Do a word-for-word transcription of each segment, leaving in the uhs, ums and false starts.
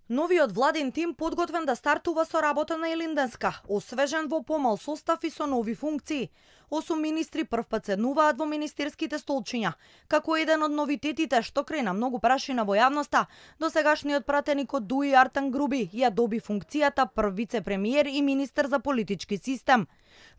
Новиот владин тим подготвен да стартува со работа на Илинденска, освежен во помал состав и со нови функции. Осум министри првпат седнуваат во министерските столчиња. Како еден од новитетите што крена многу прашина во јавноста, досегашниот пратеник од ДУИ Артан Груби ја доби функцијата прв вице-премиер и министер за политички систем.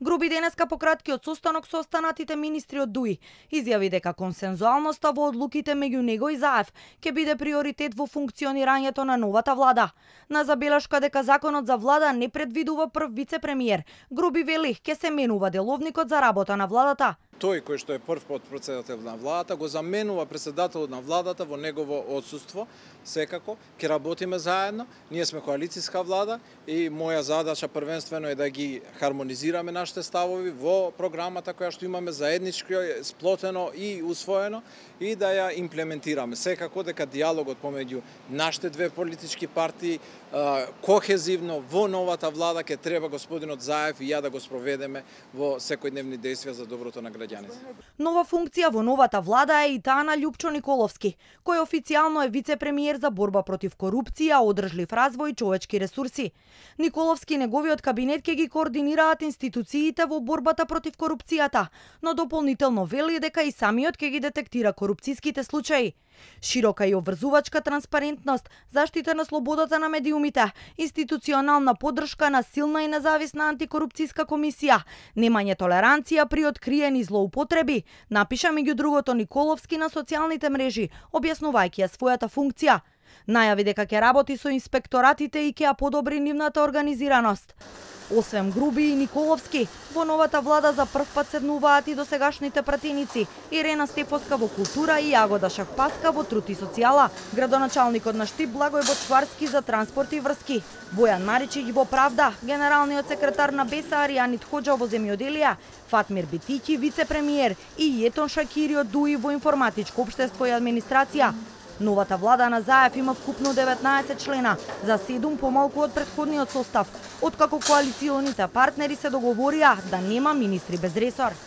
Груби денеска по краткиот состанок со останатите министри од ДУИ изјави дека консензуалноста во одлуките меѓу него и ЗАЕФ ќе биде приоритет во функционирањето на новата влада. На забелешка дека законот за влада не предвидува прв вице-премиер, Груби вели ќе се менува деловникот за работа на владата. Тој кој што е прв потпредседател на владата го заменува председателот на владата во негово отсуство. Секако ќе работиме заедно. Ние сме коалицијска влада и моја задача првенствено е да ги хармонизираме нашите ставови во програмата која што имаме заеднички, сплотено и усвоено и да ја имплементираме. Секако дека диалогот помеѓу нашите две политички партии кохезивно во новата влада ќе треба господинот Заев и ја да го спроведеме во секојдневни дејствија за доброто на граѓаните. Нова функција во новата влада е и таа на Љупчо Николовски, кој официјално е вице-премиер за борба против корупција, одржлив развој и човечки ресурси. Николовски и неговиот кабинет ќе ги координираат институциите во борбата против корупцијата, но дополнително вели дека и самиот ќе ги детектира корупцијските случаи. Широка и обврзувачка транспарентност, заштита на слободата на медиумите, институционална поддршка на силна и независна антикорупцијска комисија, немање толеранција при откриени злоупотреби, напиша меѓу другото Николовски на социјалните мрежи, објаснувајќи ја својата функција. Најави дека ќе работи со инспекторатите и ќе ја подобри нивната организираност. Освен Груби и Николовски, во новата влада за првпат седнуваат и досегашните пратеници Ирена Стефоска во култура и Јагода Шахпаска во труд и социјала, градоначалникот на Штип Благој Бочварски за транспорт и врски, Бојан Маричиќ во правда, генералниот секретар на БЕСА Аријанит Хоџа во земјоделие, Фатмир Битиќи вице-премиер и Јетон Шакири од ДУИ во информатичко општество и администрација. Новата влада на ЗАЕФ има вкупно деветнаесет члена, за седум помалку од претходниот состав, откако коалиционите партнери се договорија да нема министри без ресор.